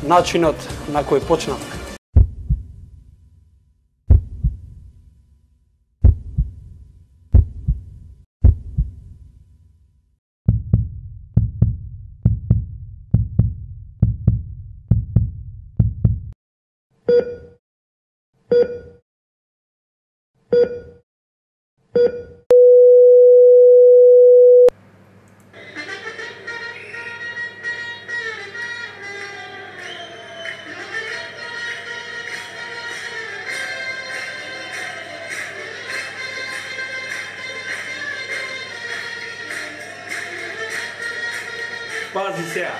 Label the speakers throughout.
Speaker 1: начинот на кој почнав.
Speaker 2: Пази сега.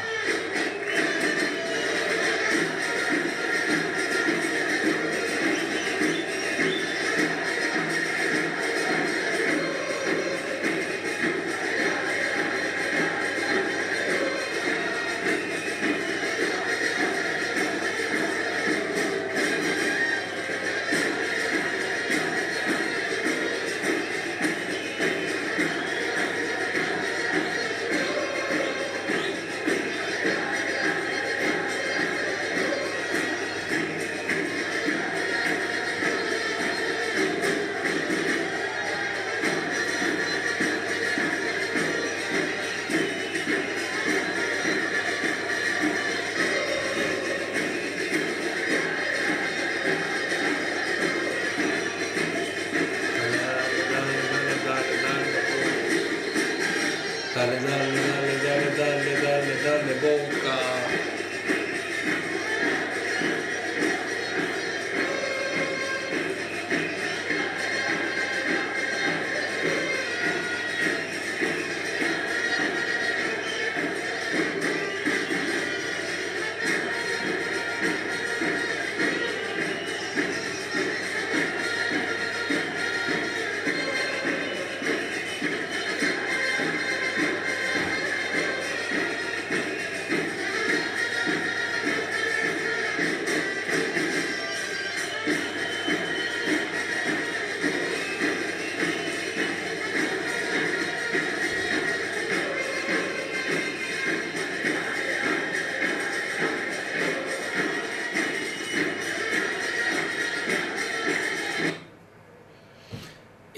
Speaker 2: Dale, boca.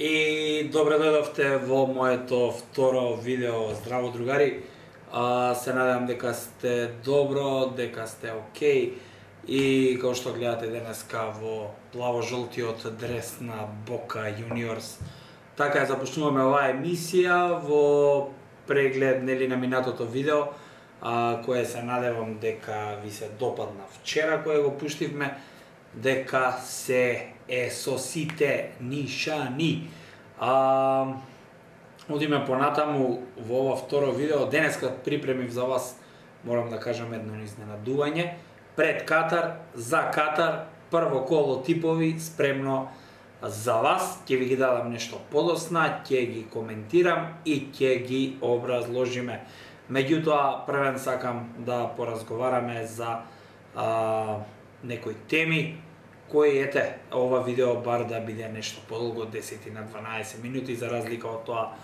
Speaker 2: И добре дојдовте во моето второ видео. Здраво, другари. Се надевам дека сте добро, дека сте окей. И како што гледате денеска во плаво-жолтиот дрес на Бока Јуниорс. Така започнуваме оваа емисија во преглед нели на минатото видео, кое се надевам дека ви се допадна вчера кое го пуштивме, дека се со сите нишани. Одиме понатаму во ова второ видео. Денеска припремив за вас, морам да кажам, едно изненадување. Пред Катар, за Катар, прво коло типови спремно за вас. Ќе ви ги дадам нешто подосна, ќе ги коментирам и ќе ги образложиме. Меѓутоа, првен сакам да поразговараме за некои теми, кои ете, ова видео бар да биде нешто подолго, 10 на 12 минути, за разлика од тоа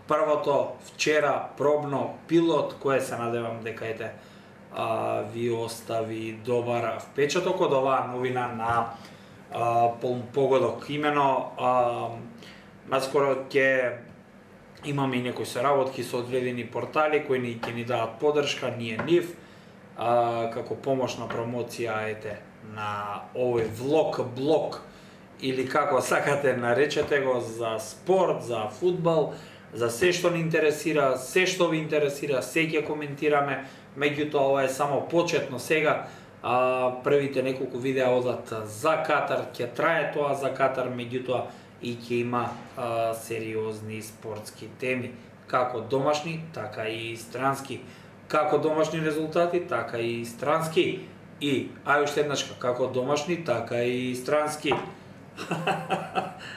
Speaker 2: првото вчера пробно пилот, кое се надевам дека ете ви остави добар впечаток од оваа новина на полн погодок. Имено, наскоро ќе имаме и некои соработки со одредени портали кои ќе ни дадат поддршка, ние нив, како помошна промоција ете на овој влог, или како сакате наречете го, за спорт, за фудбал, за се што ни интересира, се што ви интересира, се ќе коментираме. Меѓутоа, ова е само почетно сега. Првите неколку видеа одат за Катар, ќе трае тоа за Катар, меѓутоа и ќе има сериозни спортски теми, како домашни, така и странски. Како домашни резултати, така и странски. И, уште еднашка, како домашни, така и странски.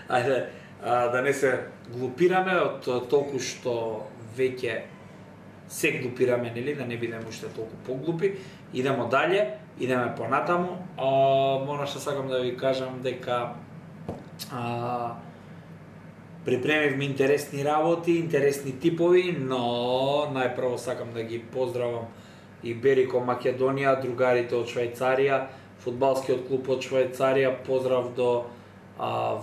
Speaker 2: Ајде, да не се глупираме од толку што веќе се глупираме, нели, да не бидеме уште толку поглупи. Идемо дале, идеме понатаму. Мора што сакам да ви кажам дека припремивме интересни работи, интересни типови, но најпрво сакам да ги поздравам Иберико Македонија, другарите од Швајцарија, фудбалскиот клуб од Швајцарија, поздрав до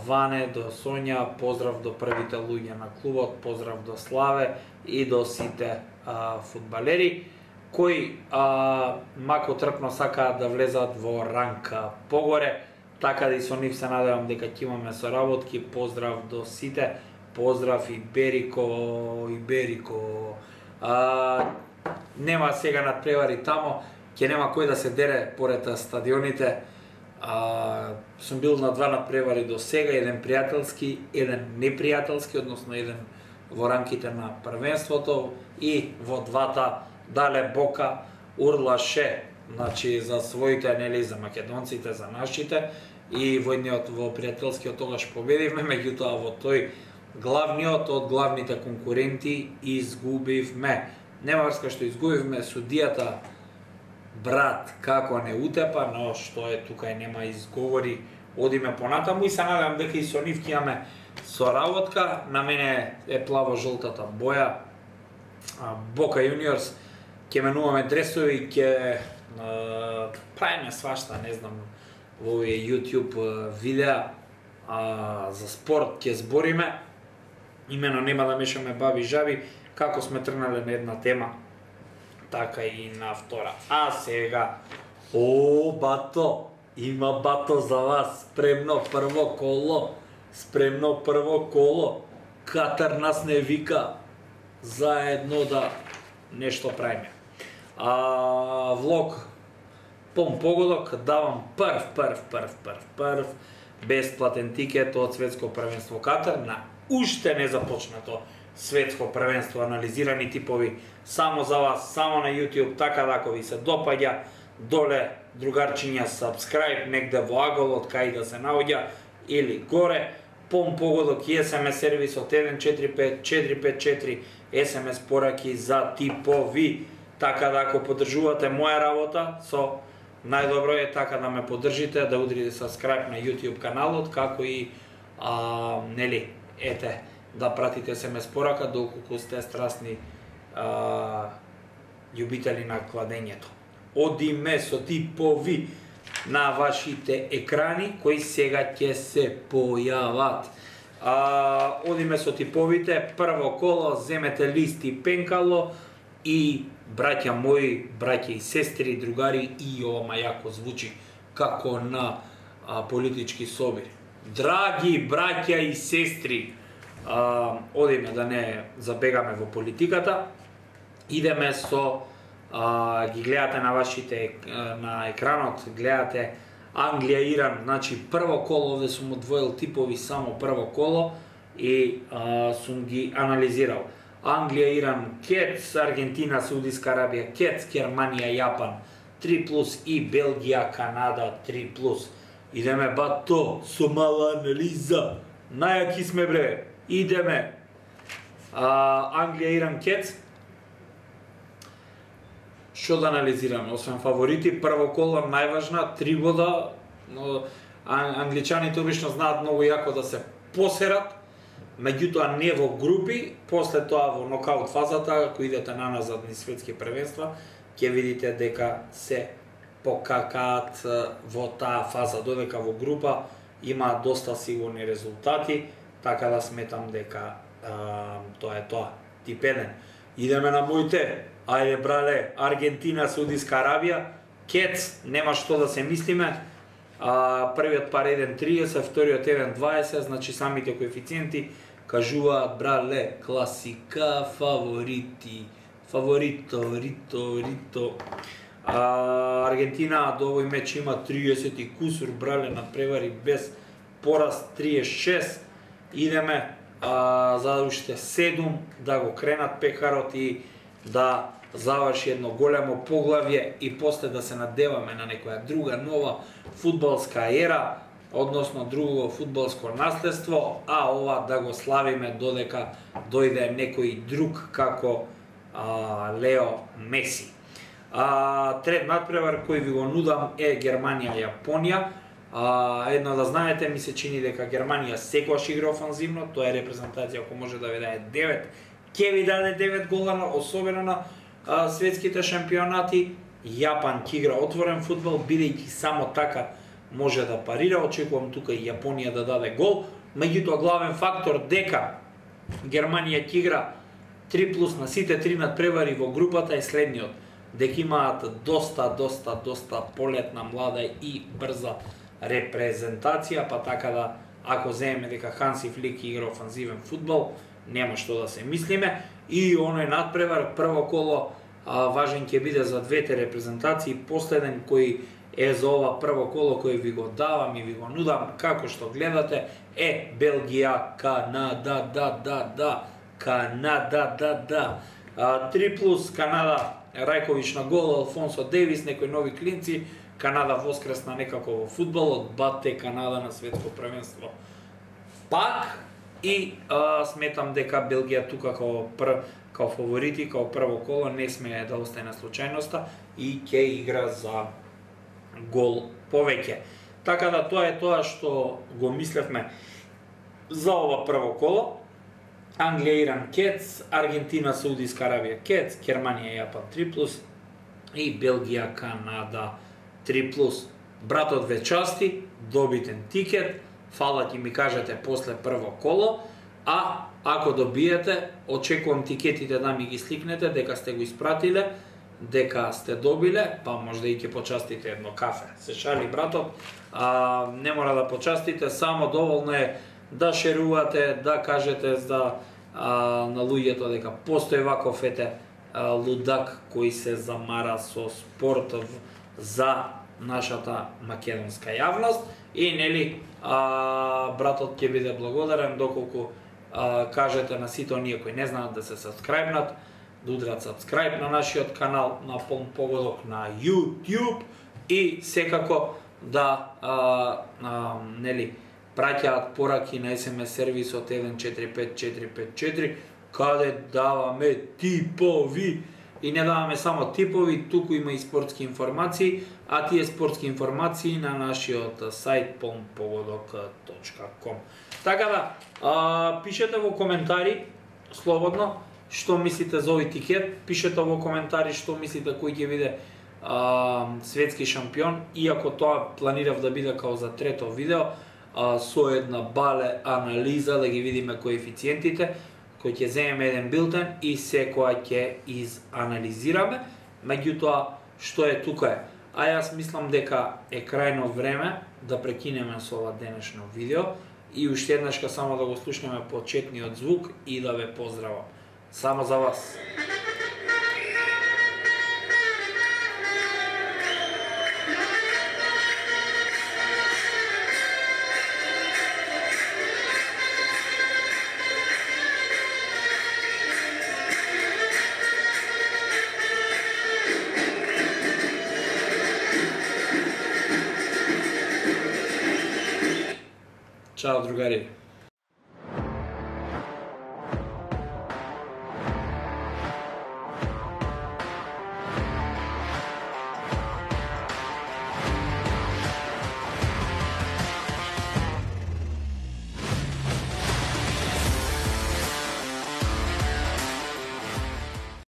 Speaker 2: Ване, до Сонја, поздрав до првите луѓе на клубот, поздрав до Славе и до сите фудбалери кои мако трпно сакаат да влезат во ранка погоре, така да и со нив се надевам дека ќе имаме соработки. Поздрав до сите, поздрав Иберико. Нема сега надпревари тамо, ќе нема кој да се дере поред стадионите. Сум бил на два надпревари до сега, еден пријателски, еден непријателски, односно еден во рамките на првенството и во двата дале Бока урлаше, значи за своите, нели, за македонците, за нашите, и во едниот, во пријателскиот тогаш победивме, меѓутоа во тој главниот од главните конкуренти изгубивме. Нема врска што изгубивме, судијата брат како не утепа, но што е тука и нема изговори, одиме понатаму и се надевам дека и со нив ќе имаме соработка. На мене е плаво-жолтата боја, Бока Juniors, ќе менуваме дресови, ќе правиме свашта, не знам, во овие YouTube видеа за спорт ќе збориме. Имено нема да мешаме баби и жаби, како сме тргнале на една тема, така и на втора. А сега, бато, има бато за вас, спремно прво коло, Катар нас не вика, заедно да нешто правиме. Влог пон погодок, давам прв бесплатен тикет од светско првенство Катар на уште не започнато светско првенство, анализирани типови само за вас, само на YouTube, така да ако ви се допаѓа, доле другарчиња subscribe негде во аголот кај да се наоѓа или горе, пон погодок и SMS сервисот 145454, SMS пораки за типови, така да ако поддржувате моја работа, со најдобро е така да ме поддржите, да удрите subscribe на YouTube каналот, како и нели, ете, да пратите SMS порака доколку сте страстни љубители на кладењето. Одиме со типови на вашите екрани кои сега ќе се појават. Одиме со типовите, прво коло, земете лист и пенкало и браќа мои, браќа и сестри, другари, и ова јако звучи како на политички собир. Драги браќа и сестри, одиме да не забегаме во политиката, идеме со, ги гледате на вашите, на екранот, гледате Англија-Иран, значи прво коло, овде сум одвоил типови само прво коло и сум ги анализирал. Англија-Иран кец, Аргентина, Саудиска Арабија кец, Германија, Јапан 3+, и Белгија, Канада 3+. Идеме бато со мала анализа. Најаки сме бре. Идеме. Англија-Иран кец. Што да анализираме? Освен фаворити, прво коло најважна, 3 бода, но англичаните обично знаат многу јако да се посерат, меѓутоа не во групи, после тоа во нокаут фазата, ако идете наназад низ светски првенства, ќе видите дека се покакаат во таа фаза, додека во група има доста сигурни резултати, така да сметам дека тоа е тоа. Тип 1. Идеме на моите. Ајде брале, Аргентина, Саудиска Арабија, кец, нема што да се мислиме. Првиот пар 1.30, вториот 1.20, значи самите коефициенти кажуваат брале, класика, фаворити, рито. Аргентина до овој меч има 30 и кусур, брале, надпревари без пораз 36. Идеме за уште 7 да го кренат пекарот и да заврши едно големо поглавје и после да се надеваме на некоја друга нова фудбалска ера, односно друго фудбалско наследство, а ова да го славиме додека дојде некој друг како Лео Меси. Трет надпревар кој ви го нудам е Германија-Јапонија. Едно да знаете, ми се чини дека Германија секогаш игра офанзивно, тоа е репрезентација ако може да ви даде 9, ќе ви даде 9 гола, особено на светските шампионати, Јапан ќе игра отворен фудбал, бидејќи само така може да парира. Очекувам тука и Јапонија да даде гол. Меѓутоа главен фактор дека Германија ќе игра 3+ на сите 3 надпревари во групата е следниот. Дека имаат доста полетна, млада и брза репрезентација, па така да ако земеме дека Ханси Флик игра офанзивен фудбал, нема што да се мислиме. И оној надпревар, прво коло, важен ќе биде за двете репрезентации. Последен кој е за ова прво коло кој ви го давам и ви го нудам, како што гледате, е Белгија, Канада, Канада. 3+ Канада, Рајкович на гол, Алфонсо Девис, некои нови клинци. Канада воскресна некако во фудбалот, бате Канада на светско првенство. Пак и сметам дека Белгија тука као фаворити, као прво коло, не смее да остане случајноста и ќе игра за гол повеќе. Така да тоа е тоа што го мислевме за ова прво коло. Англија, Иран, кец, Аргентина, Саудиска Аравија, кец, Германија, Јапан 3+ и Белгија, Канада 3+. Братот ве части, добитен тикет, фала ќе ми кажете после прво коло, а ако добиете, очекувам тикетите да ми ги сликнете, дека сте го испратиле, дека сте добиле, па можда и ќе почастите едно кафе. Се шали братот, не мора да почастите, само доволно е да шерувате, да кажете на луѓето дека постои ваков лудак кој се замара со спорт за нашата македонска јавност и нели братот ќе биде благодарен доколку кажете на сите оние кои не знаат да се сабскрајбнат, да удрат сабскрајб на нашиот канал на Полн Погодок на YouTube и секако да нели праќаат пораки на SMS сервисот 145454 каде даваме типови и не даваме само типови, туку има и спортски информации, а тие спортски информации на нашиот сајт polnpogodok.com. Така да, пишете во коментари слободно што мислите за овој тикет, пишете во коментари што мислите кој ќе биде светски шампион, иако тоа планирав да биде као за трето видео, со една бале анализа да ги видиме коефициентите, кој ќе земеме еден билтен и секоја ќе изанализираме. Меѓутоа, што е тука е. А јас мислам дека е крајно време да прекинеме со ова денешно видео и уште еднашка само да го слушнеме почетниот звук и да ве поздравам. Само за вас. Чао, другари!